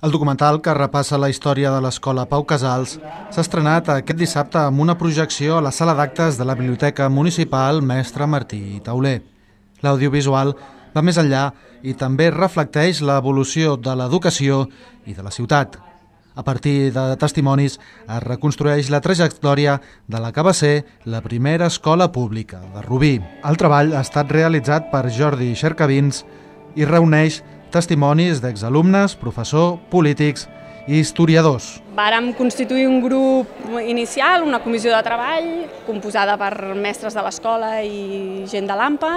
El documental, que repassa la història de l'escola Pau Casals, s'ha estrenat aquest dissabte amb una projecció a la sala d'actes de la Biblioteca Municipal Mestre Martí Tauler. L'audiovisual va més enllà i també reflecteix l'evolució de l'educació i de la ciutat. A partir de testimonis es reconstrueix la trajectòria de la que va ser la primera escola pública de Rubí. El treball ha estat realitzat per Jordi Xercavins i reuneix testimonis d'exalumnes, professors, polítics i historiadors. Vàrem constituir un grup inicial, una comissió de treball, composada per mestres de l'escola i gent de l'AMPA,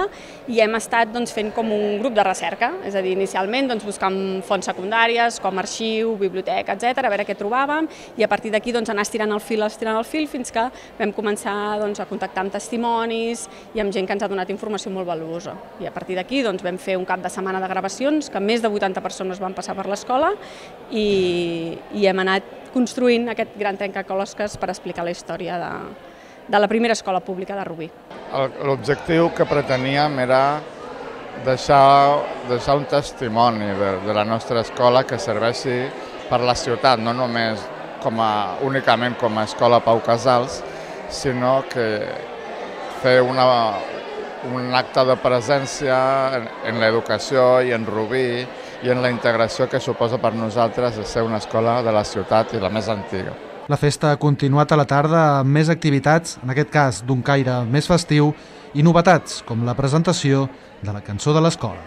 i hem estat fent com un grup de recerca, és a dir, inicialment buscant fonts secundàries, com arxiu, biblioteca, etc., a veure què trobàvem, i a partir d'aquí anar estirant el fil, fins que vam començar a contactar amb testimonis i amb gent que ens ha donat informació molt valuosa. I a partir d'aquí vam fer un cap de setmana de gravacions, que més de 80 persones van passar per l'escola, i hem anat construint aquest gran trencaclosques per explicar la història de la primera escola pública de Rubí. L'objectiu que preteníem era deixar un testimoni de la nostra escola que serveixi per la ciutat, no només únicament com a escola Pau Casals, sinó que fer un acte de presència en l'educació i en Rubí i en la integració que suposa per nosaltres ser una escola de la ciutat i la més antiga. La festa ha continuat a la tarda amb més activitats, en aquest cas d'un caire més festiu, i novetats com la presentació de la cançó de l'escola.